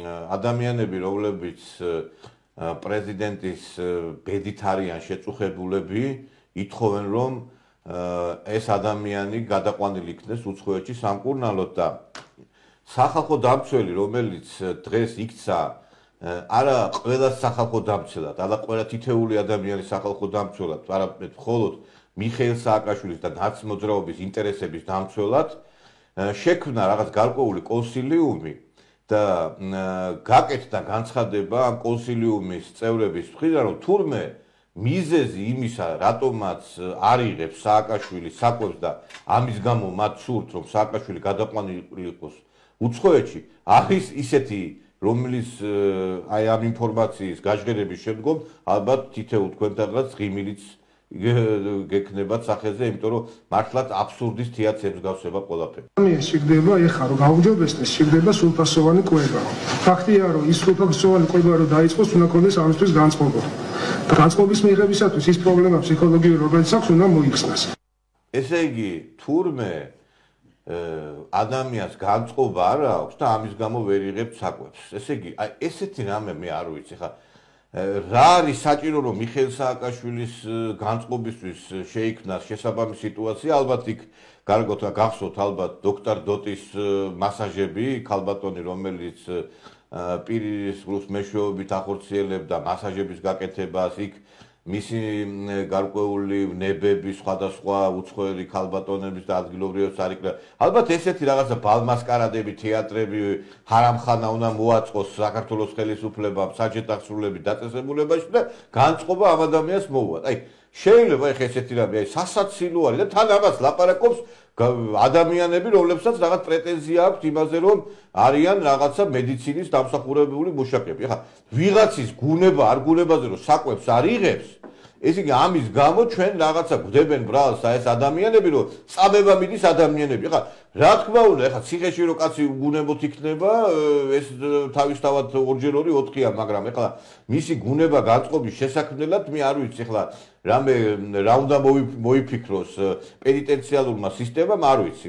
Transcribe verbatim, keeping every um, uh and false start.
ადამიანები, რომლებიც პრეზიდენტის ბედით არიან შეწუხებულები, ითხოვენ, რომ ეს ადამიანი გადაყვანილი იქნეს უცხოეთში სამკურნალოდ და სახალხო დამცველი, რომელიც დღეს იქცა არა ყველა სახალხო დამცველად, არა ყველა თითეული ადამიანის სახალხო დამცველად, არამედ მხოლოდ მიხეილ სააკაშვილის და ნაცმოძრაობის ინტერესების დამცველად შექმნა რაღაც გარკვეული კონსილიუმი და გაკეთდა განცხადება ამ კონსილიუმის წევრების მხრიდან, რომ თურმე მიზეზი იმისა, რატომაც არ იღებს სააკაშვილი საკვებს და ამის გამო მათ სურთ, რომ სააკაშვილი გადაყვანილი იყოს უცხოეთში, არის ისეთი, რომელიც აი ამ ინფორმაციის გაჟღერების შემდგომ ალბათ თითოეულ თქვენთანაც ღიმილიც გექნებათ სახეზე, იმიტომ რომ მართლაც აბსურდის თეატრებს გავსება ყველაფერი. ამის შეგდება ეხა რომ გაუჯობესდეს, შეგდება სრულფასოვანი კვება. ფაქტია რომ ის სრულფასოვანი კვება რომ დაიწყოს, უნდა ქონდეს ამისთვის განწყობა. და განწყობის მიღებისათვის ის პრობლემა ფსიქოლოგიური, რომელიც აქვს, უნდა მოიხსნას. ესე იგი, თურმე ადამიანს განწყობა არ აქვს და ამის გამო ვერ იღებს საკვებს. ესე იგი, აი ესეთი რამე მე არ ვიცი ხა რა არის საჭირო რომ მიხეილ სააკაშვილის განწყობისთვის შეიქმნას შესაბამისი სიტუაცია, ალბათ იქ გარკვეულად გახსოვთ ალბათ დოქტორ დოტის მასაჟები, ქალბატონი რომელიც პირის გულს მეშვეობით ახორციელებდა მასაჟების გაკეთებას, იქ მისი გარკვეული ნებები, სხვადასხვა უცხოელი ქალბატონების და ადგილობრივებს არ იქნება. ალბათ ესეთი რაღაცა ბალმასკარადები, თეატრები, ჰარამხანა უნდა მოაწყოს საქართველოს ხელისუფლებამ საჯეტახსრულების დაწესებულებაში და განწყობა ამ ადამიანს მოუვათ. აი შეიძლება ეხა ესეთი რამე, აი სასაცილო არის და თან ამას ლაპარაკობს ადამიანები, რომლებსაც რაღაც პრეტენზია აქვს იმაზე, რომ არიან რაღაცა მედიცინის დამსახურებული მუშაკები. ახლა ვიღაცის გუნება არ გუნებაზე რომ საკვებს არ იღებს, ესე იგი ამის გამო ჩვენ რაღაცა გვდებენ ბრალს ეს ადამიანები, რომ წამება მიდის ადამიანები. ახლა რა თქმა უნდა, ახლა ციხეში რო კაცი გუნებოთ იქნება, ეს თავისთავად ორჯერ ორი ოთხია, მაგრამ ახლა მისი გუნება განწყობის შესაქმნელად მე არ ვიცი ახლა რამე რა უნდა მოიფიქროს პენიტენციალურმა სისტემამ, არ ვიცი.